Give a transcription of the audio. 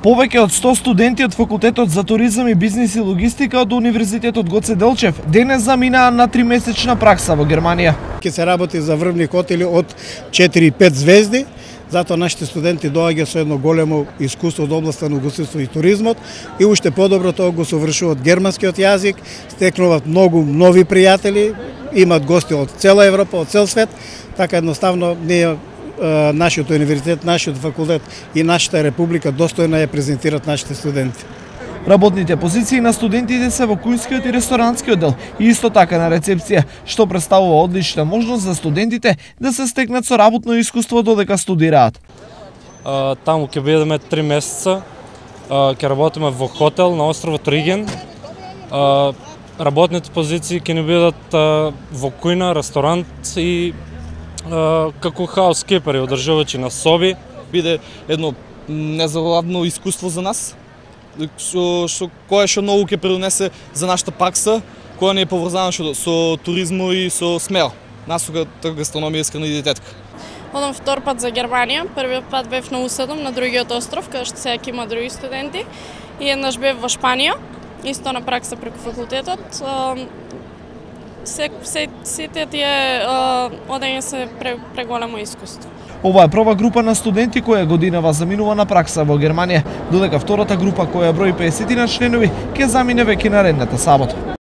Повеќе од 100 студенти од факултетот за туризам и бизнис и логистика од Универзитетот Гоце Делчев денес заминаа на 3-месечна пракса во Германија. Ќе се работи за врвни хотели од 4-5 звезди, затоа нашите студенти доаѓаат со едно големо искуство од областа на угостителството и туризмот и уште подобро тоа го совршуваат германскиот јазик, стекнуваат многу нови пријатели, имаат гости од цела Европа, од цел свет, така едноставно ние нашиот универзитет, нашиот факултет и нашата република достојно ја презентираат нашите студенти. Работните позиции на студентите се во кујнскиот и ресторантскиот дел и исто така на рецепција, што представува одлична можност за студентите да се стекнат со работно искуство додека студираат. Таму ќе бидеме 3 месеца, ќе работиме во хотел на островот Риген. Работните позиции ќе ни бидат во кујна, ресторант и како хаускипери, одржувачи на соби. Биде едно незаладно искуство за нас, кое што многу ќе придонесе за нашата пракса, која не е поврзана со туризмот и со смел. Насоката гастрономија, исхрана и диететика. Одам втор пат за Германија. Првиот пат бев на U7 на другиот остров, каде што сега има други студенти. И еднаш бев во Шпанија, исто на пракса преку факултетот. Сите тие одење се преголемо искуство. Ова е прва група на студенти која годинава заминува на пракса во Германија, додека втората група која брои 50 членови ќе замине веќе наредната сабота.